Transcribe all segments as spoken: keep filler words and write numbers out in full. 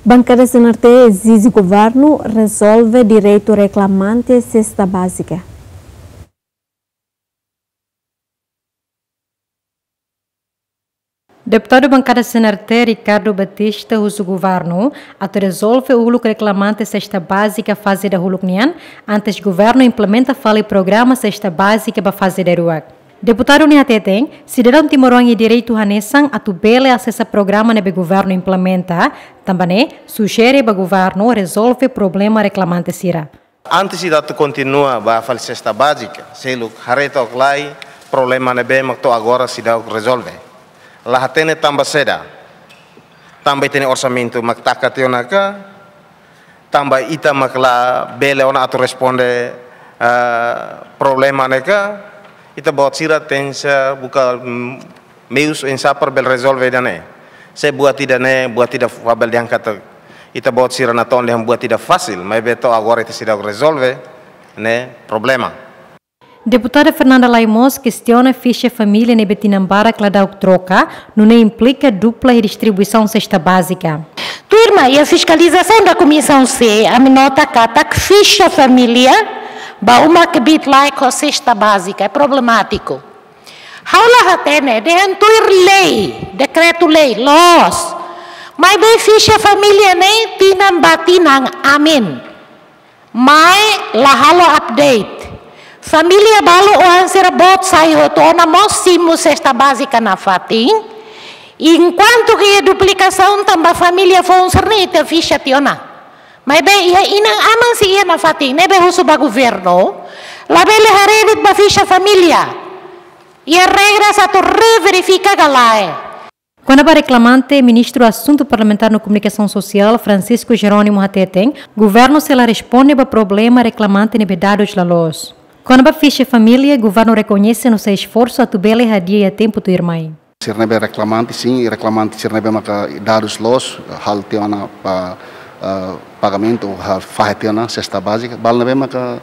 Bankada C N R T ezije governu rezolve direitu reklamante sesta bázika. Deputadu bankada C N R T, Ricardo Batista, husu governu atu rezolve uluk reklamante sesta bázika faze dahuluk nian, antes governu implementa fali programa sesta bázika ba faze daruak. Deputadu ne'e hateten, sidadaun timoroan iha direitu hanesan atu bele asesa programa ne'ebé governu implementa, tanba ne'e sujere ba governu rezolve problema reklamante sira. Antes ita atu kontinua ba fali sesta bázika, seluk haree to'ok lai problema ne'ebé mak to'o agora seidauk rezolve. La hatene tanba saida? Tanba ita-nia orsamentu mak taka tiha ona ka, tanba ita mak la bele ona atu responde, eh, problema ne'e ka, ita-boot sira tenke buka, mm, meius oinsá para bele rezolve ida-ne'e. Se buat ida-ne'e, buat ida fabel diangkat, ita-boot sira natoon dehan buat ida fasil, maibé to'o agora ita seidauk rezolve ne'e problema. Deputada Fernanda Lay mós kestiona fixa família ne'ebé tinan barak ladauk troka, nune'e implika dupla iha distribuisaun sesta bázika. Tuirmai, iha fiskalizasaun da Komisaun C, ami nota katak fixa família ba uma kbiit-laek ho sesta bázika ne'e problemátiku. Ha'u la hatene, dehan tuir lei, dekretu-lei, loos. Maibé fixa família ne'e tinan ba tinan amen, mai la halo update. Família balu oan sira boot sai hotu ona mós simu sesta bázika nafatin. Enkuantu ke iha duplikasaun tanba família foun sira-ne'e ita fixa tiha ona. Maibé iha inan-aman sei iha nafatin, ne'ebé husu ba governu, labele haree de'it ba fixa família. Iha regras atu reverifika ka lae. Kona-ba reklamante, Ministru Asuntu Parlamentár no Komunikasaun Sosiál, Francisco Jerónimo hateten, governu sei la responde ba problema reklamante ne'ebé dadus la loos. Kona-ba fixa família, governu rekoñese no sei esforsu atu bele hadi'a iha tempu tuirmai. Sira ne'ebé reklamante, sin, i reklamante sira ne'ebé maka dadus loos, halo tiha ona pa, eh, pagamentu, ha, fahe tiha ona sesta bázika. Balu ne'ebé maka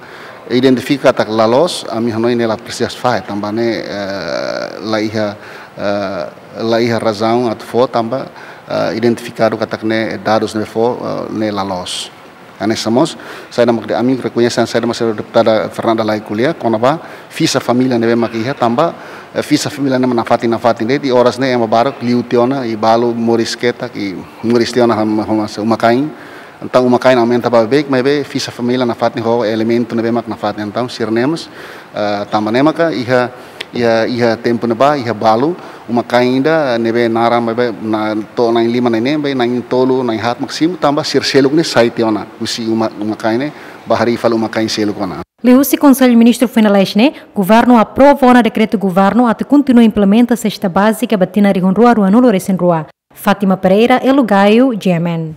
identifika katak la loos, ami hanoin ne'e la presiza fahe, tanba ne'e, eh, la iha, eh, la iha razaun atu fó, tanba, eh, identifikadu katak ne'e dadus ne'ebé fó, eh, ne'e la loos. Hanesan mós, saida mak ami rekoñese, saida mak deputada Fernanda Lay ko'alia, kona-ba fixa família ne'ebé mak iha, tanba, eh, fixa família ne'e mak nafatin, nafatin de'it, i oras ne'e ema barak liu tiha ona, i balu moris ketak, i moris tiha ona hom-, hom-, uma-kain. Entaun uma-kain aumenta ba beik, maibé fixa família nafatin ho elementu ne'ebé mak nafatin. Entaun sira-ne'e mós, eh, tanba ne'e maka iha, iha, iha tempu ne'ebá, iha balu, uma-kain ida ne'ebé naran maibé na, to'o na'in-lima na'in-neen, be na'in-tolu, na'in-haat mak simu, tanba sira seluk ne'e sai tiha ona husi uma, uma-kain ne'e, ba harii fali uma-kain seluk ona. Liuhusi Konsellu Ministru foin lalais ne'e, governu aprova ona dekretu governu atu kontinua implementa sesta bázika ba tinan rihun rua ruanulu resin rua. Fátima Pereira, Elo Gaio, G M N.